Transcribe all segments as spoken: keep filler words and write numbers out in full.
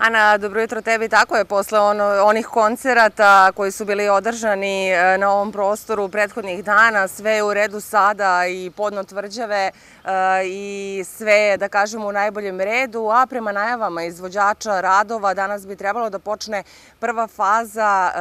Ana, dobro jutro tebi. Tako je, posle ono, onih koncerata koji su bili održani na ovom prostoru prethodnih dana, sve je u redu sada i podno tvrđave i sve je, da kažemo, u najboljem redu, a prema najavama izvođača radova danas bi trebalo da počne prva faza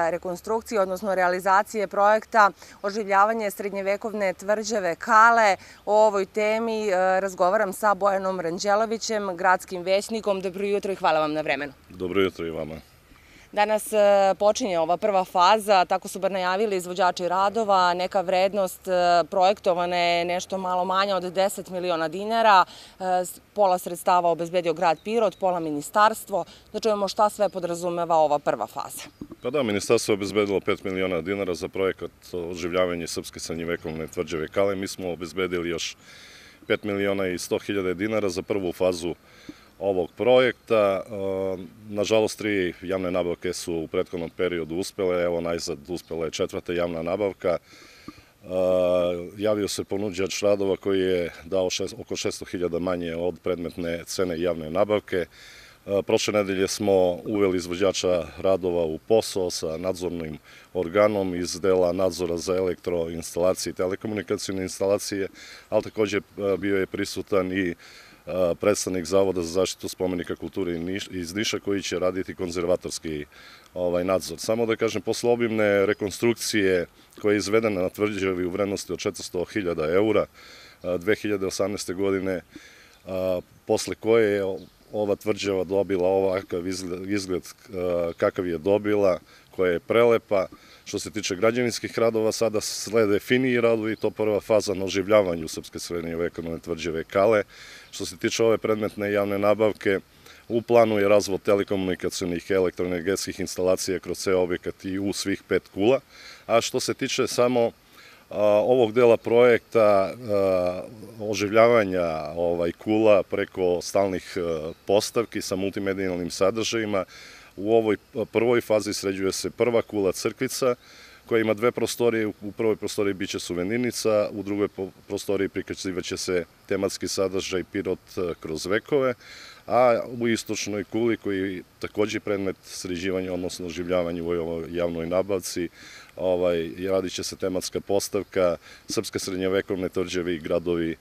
rekonstrukcije, odnosno realizacije projekta oživljavanje srednjevekovne tvrđave Kale. O ovoj temi razgovaram sa Bojanom Ranđelovićem, gradskim većnikom. Dobro jutro i hvala vam na vremenu. Dobro jutro i vama. Danas počinje ova prva faza, tako su bar najavili izvođači radova. Neka vrednost projektovana je nešto malo manja od deset miliona dinara. Pola sredstava obezbedio grad Pirot, pola ministarstvo. Da čujemo šta sve podrazumeva ova prva faza. Pa da, ministarstvo je obezbedilo pet miliona dinara za projekat oživljavanje srpske srednjevekovne tvrđave Kale. Mi smo obezbedili još pet miliona i sto hiljada dinara za prvu fazu ovog projekta. Nažalost, tri javne nabavke su u prethodnom periodu uspele. Evo, najzad uspela je četvrta javna nabavka. Javio se ponuđač radova koji je dao oko šesto hiljada manje od predmetne cene javne nabavke. Prošle nedelje smo uveli izvođača radova u posao sa nadzornim organom iz dela nadzora za elektroinstalacije i telekomunikacijne instalacije, ali također bio je prisutan i predstavnik Zavoda za zaštitu spomenika kulture iz Niša koji će raditi konzervatorski nadzor. Samo da kažem, posle obimne rekonstrukcije koja je izvedena na tvrđavi u vrednosti od četiristo hiljada eura dve hiljade osamnaeste. godine, posle koje je ova tvrđava dobila ovakav izgled kakav je dobila, koja je prelepa. Što se tiče građevinskih radova, sada slede finiji radovi i to prva faza na oživljavanju srpske srednjevekovne tvrđave Kale. Što se tiče ove predmetne javne nabavke, u planu je razvod telekomunikacijnih i elektroenergetskih instalacija kroz ceo objekat i u svih pet kula. A što se tiče samo ovog dela projekta oživljavanja kula preko stalnih postavki sa multimedijalnim sadržajima, u ovoj prvoj fazi sređuje se prva kula crkvica koja ima dve prostorije. U prvoj prostoriji biće suvenirnica, u drugoj prostoriji prikazivaće se tematski sadržaj Pirot kroz vekove, a u istočnoj kuli, koji je također predmet sređivanja, odnosno oživljavanja u ovoj javnoj nabavci, radit će se tematska postavka srpske srednjevekovne tvrđave i gradovi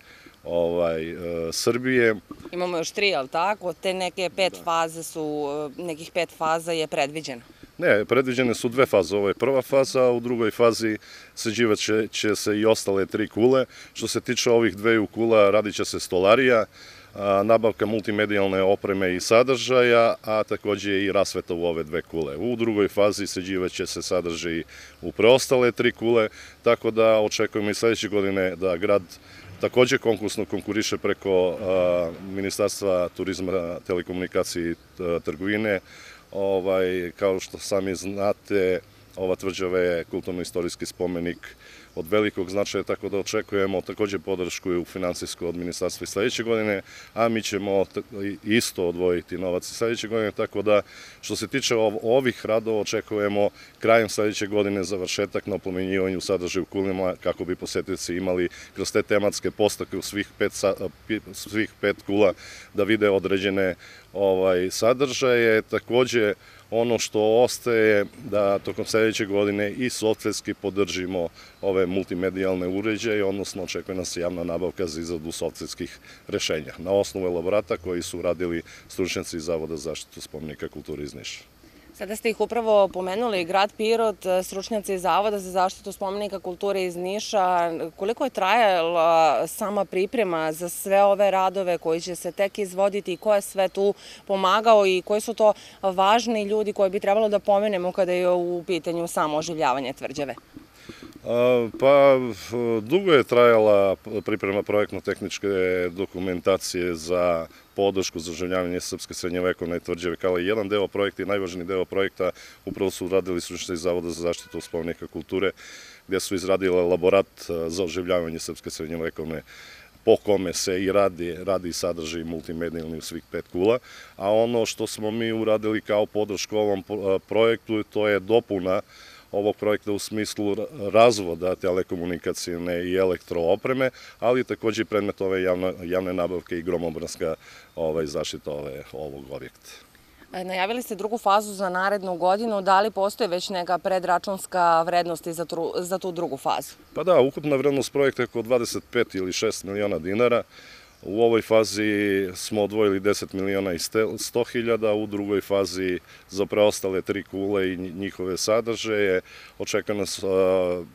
Srbije. Imamo još tri, ali tako? Te neke pet faze su, nekih pet faza je predviđeno? Ne, predviđene su dve faze. Ovo je prva faza, a u drugoj fazi sređivat će se i ostale tri kule. Što se tiče ovih dveju kula, radit će se stolarija, nabavka multimedijalne opreme i sadržaja, a također i rasveta u ove dve kule. U drugoj fazi sređivat će se sadržaj u preostale tri kule, tako da očekujemo i sledeće godine da grad također konkursno konkuriše preko Ministarstva turizma, telekomunikacije i trgovine. Kao što sami znate, ova tvrđava je kulturno-istorijski spomenik od velikog značaja, tako da očekujemo također podršku u finansijsku od ministarstva i sledeće godine, a mi ćemo isto odvojiti novac i sledeće godine, tako da što se tiče ovih radova očekujemo krajem sledeće godine završetak na oplemenjivanju sadržaja u kulima kako bi posetioci imali kroz te tematske postavke u svih pet kula da vide određene sadržaje. Također, ono što ostaje da tokom sledeće godine i softverski podržimo ove multimedijalne uređaje, odnosno očekuje nas javna nabavka za izradu softverskih rešenja na osnovu elaborata koji su radili stručnjaci iz Zavoda za zaštitu spomenika kulture iz Niša. Sada ste ih upravo pomenuli, grad Pirot, stručnjaci iz Zavoda za zaštitu spomenika kulture iz Niša. Koliko je trajala sama priprema za sve ove radove koji će se tek izvoditi i ko je sve tu pomagao i koji su to važni ljudi koje bi trebalo da pomenemo kada je u pitanju samo oživljavanje tvrđave? Pa, dugo je trajala priprema projektno-tehničke dokumentacije za podršku za oživljavanje srpske srednjevekovne tvrđave Kale. Jedan deo projekta i najvažniji deo projekta upravo su uradili stručnjaci iz Zavoda za zaštitu spomenika kulture, gdje su izradili elaborat za oživljavanje srpske srednjevekovne po kome se i radi, radi sadržaj multimedijalni u svih pet kula, a ono što smo mi uradili kao podršku ovom projektu, to je dopuna ovog projekta u smislu razvoda telekomunikacijne i elektroopreme, ali također i predmet ove javne nabavke i gromobranska zaštita ovog objekta. Najavili ste drugu fazu za narednu godinu. Da li postoji već neka predračunska vrednost za tu drugu fazu? Pa da, ukupna vrednost projekta je oko dvadeset pet ili šest miliona dinara. U ovoj fazi smo odvojili deset miliona i sto hiljada, u drugoj fazi za preostale tri kule i njihove sadržaje očekuje nas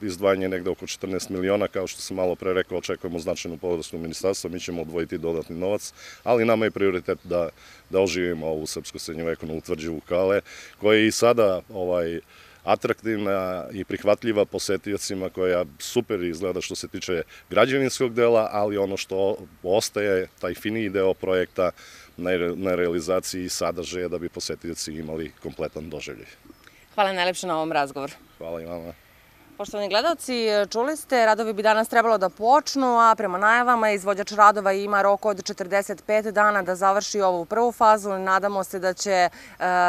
izdvajanje negde oko četrnaest miliona, kao što sam malo pre rekao, očekujemo značajnu podršku ministarstva, mi ćemo odvojiti dodatni novac, ali nama je prioritet da, da oživimo ovu srpsku srednjovekovnu tvrđavu Kale, koja je i sada ovaj, atraktivna i prihvatljiva posetiocima, koja super izgleda što se tiče građevinskog dela, ali ono što ostaje, taj finiji deo projekta na realizaciji sadržaja da bi posetioci imali kompletan doživljaj. Hvala najlepše na ovom razgovoru. Hvala i vama. Poštovani gledalci, čuli ste, radovi bi danas trebalo da počnu, a prema najavama izvođač radova ima rok od četrdeset pet dana da završi ovu prvu fazu. Nadamo se da će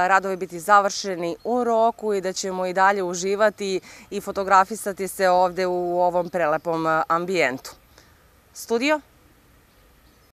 radovi biti završeni u roku i da ćemo i dalje uživati i fotografisati se ovde u ovom prelepom ambijentu. Studio?